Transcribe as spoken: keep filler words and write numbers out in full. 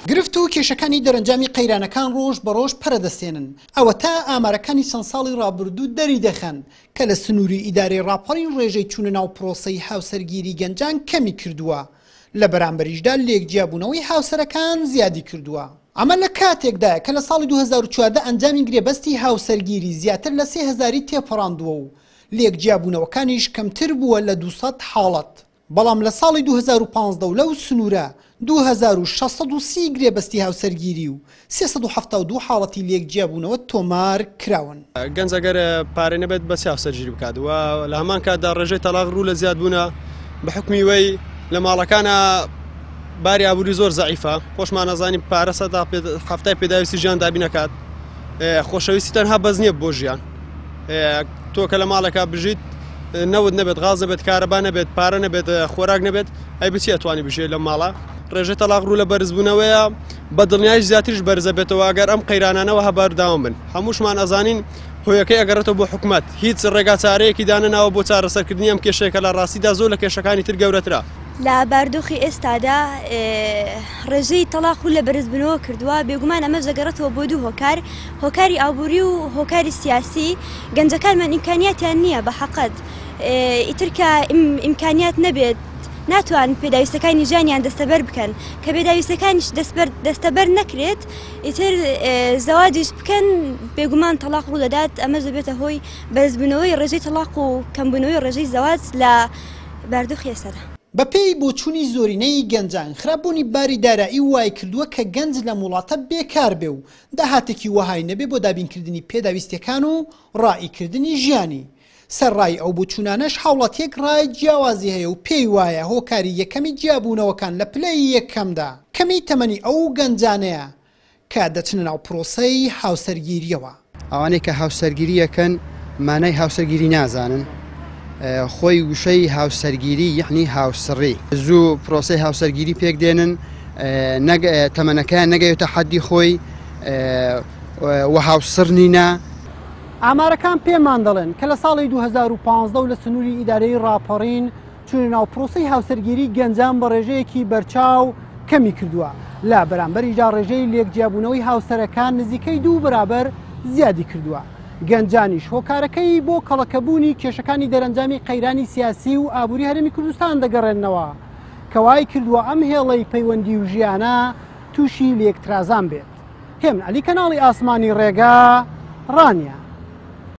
گرفت و کێشەکانی دەرەنجامی قەیرانەکان ڕۆژ بە ڕۆژ پەرەدەسێنن. ئەوەتا ئامارەکانی چەند ساڵی ڕابردوو دەری دەخەن کە لە سنووری ئیدارەی ڕاپەڕین ڕێژەی چوونە ناو پرۆسەی هاوسەرگیری گەنجان کەمی کردووە، لە بەرامبەریشدا لێکجیابوونەوەی هاوسەرەکان زیادی کردووە. ئەمە لە کاتێکدایە کە لە ساڵی دوو هەزار و چواردە ئەنجامی گرێبەستی هاوسەرگیری زیاتر لە سێ هەزاری تێپەڕاندووە و لێکجیابوونەوەکانیش کەمتر بووە لە دوو سەد حاڵەت، بەڵام لە ساڵی دوو هەزار و پازدە و لەو سنوورە دوو هەزار و شەش سەد و سی گرێبەستی هاوسەرگیری و سێ سەد و حەفتا و دوو حاڵەتی لێکجیابوونەوە تۆمار کراون. گەنج ئەگەر پارەی نەبێت بەچ هاوسەرگیری بکات و لە هەمان کاتدا ڕێژەی تەلاق ڕوو لە زیادبوونە بە حکمی وەی لە ماڵەکانە باری ئابووری زۆر زەعیفە، خۆشمان نەزانین پارە سەدا حەفتای پێداویستی ژیان دابین نەکات. خۆشەویستی تەنها بەس نییە بۆ ژیان. تۆ کە لە ماڵێکا بژیت نەوت نەبێت، غاز نەبێت، کارەبا نەبێت، پارە نەبێت، خۆراک نەبێت، ئەی بچی ئەتوانی بژێ لەم ماڵە؟ ڕێژەی تەلاق ڕوو لە بەرزبوونەوەیە، بە دڵنیایش زیاتریش بەرزە بێتەوە ئەگەر ئەم قەیرانانەوە هەبەرداوام بن. هەمووشمان ئەزانین هۆیەکەی ئەگەڕێتەوە بۆ حکومەت، هیچ ڕێگاچارەیەکی دانەناوە بۆ چارەسەرکردنی ئەم کێشەیە کە لە ڕاستیدا زۆر لە کێشەکانی تر گەورەترە. لە باردۆخی ئێستادا ڕێژەی تەلاق و لە بەرزبوونەوە کردووە، بێگومان ئەمەش دەگەڕێتەوە بۆ دوو هۆکار، هۆکاری ئابووری و هۆکاری سیاسی. گەنجەکانمان ئیمکانیاتیان نییە بە حەقەت، ئیتر کە ئیمکانیات نەبێت ناتوان پێداویستەکانی ژیانیان دەستەبەر بکەن، کە پێداویستەکانیش دەستەبەر نەکرێت ئیتر زەواجیش بکەن بێگومان تەلاق ڕوو دەدات. ئەمەش دەبێتە هۆی بەرزبوونەوەی ڕێژەی تەلاق و کەمبوونەوەی ڕێژەی زەواج لە باردۆخی ئێستادا. بەپێی بۆچوونی زۆرینەی گەنجان خراپبوونی باری دارایی وای کردووە کە گەنج لەم وڵاتە بێکار بێ و داهاتێکی وەهای نەبێ بۆ دابینکردنی پێداویستیەکان و ڕائیکردنی ژیانی. سەرڕای ئەو بۆچوونانەش هاوڵاتیەک ڕای جیاوازی هەیە و پێی وایە هۆکاری یەکەمی جیابوونەوەکان لە پلەی یەکەمدا کەمی تەمەنی ئەو گەنجانەیە کە دەچنە ناو پرۆسەی هاوسەرگیریەوە. ئەوانەی کە هاوسەرگیریەکەن مانای هاوسەرگیری نازانن، خۆی وشەی هاوسەرگیری یعنی هاوسڕی، زوو پرۆسەی هاوسەرگیری پێک دێنن، تەمەنەکەیان نەگەیتە حەدی خۆی و هاوسڕ نینە. ئامارەکان پێمان دەڵێن کە لە ساڵی دوو هەزار و پازدە و لە سنووری ئیدارەی ڕاپەڕین چوونە ناو پرۆسەی هاوسەرگیری گەنجان بە ڕێژەیەکی بەرچاو کەمی کردووە، لە بەرامبەریدا ڕێژەی لێکجیابوونەوەی هاوسەرەکان نزیکەی دوو بەرابەر زیادی کردووە. گەنجانیش هۆکارەکەی بۆ کەڵەکەبوونی کێشەکانی دەرەنجامی قەیرانی سیاسی و ئابووری هەرێمی کوردستان دەگەڕێننەوە کە وای کردووە ئەم هێڵەی پەیوەندی و ژیانە تووشی لێکترازان بێت. هێمن عەلی، کەناڵی ئاسمانی ڕێگا، ڕانیە.